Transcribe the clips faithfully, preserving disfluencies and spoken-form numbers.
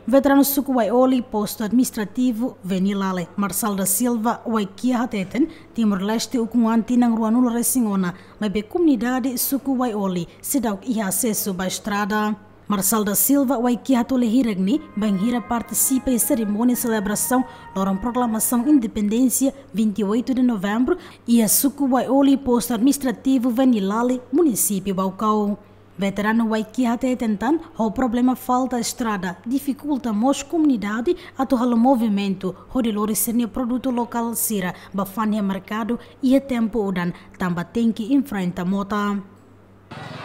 Veteranu suku Waioli, postu administrativu Venilale, Marçal da Silva Waikia hateten, Timor-Leste ukun-an tinan ruanulu resin ona, maibé komunidade suku Waioli seidauk iha asesu ba estrada. Marçal da Silva Waikia hato'o hirak ne'e bainhira partisipa iha serimónia selebrasaun loron proklamasaun independénsia vinte e oito de novembro iha suku Waioli, postu administrativu Venilale, munisípiu Baucau. Veteranu Waikia hateten tan, ho problema falta estrada difikulta mós komunidade atu halo movimentu hodi lori sira-nia produtu lokál sira ba fa'an iha merkadu iha tempu udan, tanba tenke enfrenta mota.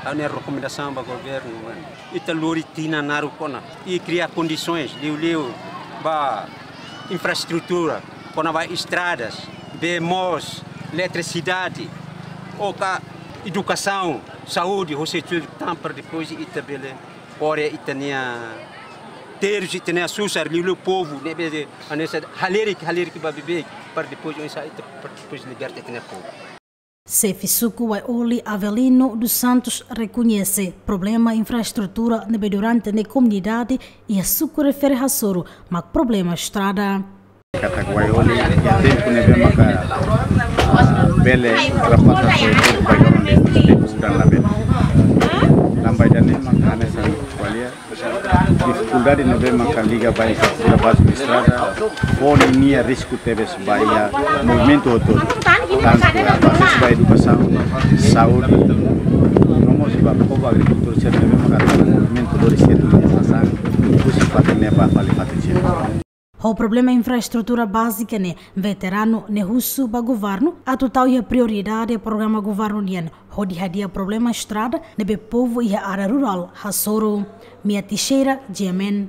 Ha'u-nia rekomendasaun ba governu, mano, ita lori tinan naruk ona i kria kondisoens liuliu ba infraestrutura, kona-ba estradas, bee moos, eletrisidade, ou ka edukasaun, saúde, ho setór tan, para depois ita bele kore ita-nia terus, ita-nia susar, liuliu povu ne'ebé hanesan halerik, halerik ba beibeik, para depois oinsá ita, para depois liberta ita-nia povu. Xefe suku Waioli Avelino dos Santos rekoñese problema infraestrutura ne'ebé durante ne'e komunidade iha suku refere hasoru mak problema estrada. Katak Waioli iha tempu ne'ebé maka, ah, bele ultrapasa, so tempu ba iha tempu udan labele. Tanba ida-ne'e maka hanesan ko'alia difikuldade ne'ebé maka liga ba infraestrutura báziku estrada, fó ninia risku tebes ba iha movimentu hotu-hotu. Tantu asesu ba edukasaun, saúde, no mós ba povu agrikultór sira ne'ebé maka movimentu lori sira-nia sasán husi fatin ne'e ba fali fatin seluk. Ho problema infraestrutura bázika ne'e, veteranu ne'e husu ba governu atu tau iha prioridade programa governu nian hodi hadi'a problema estrada ne'ebé povu iha área rurál hasoru. Mia Teixeira, G M N.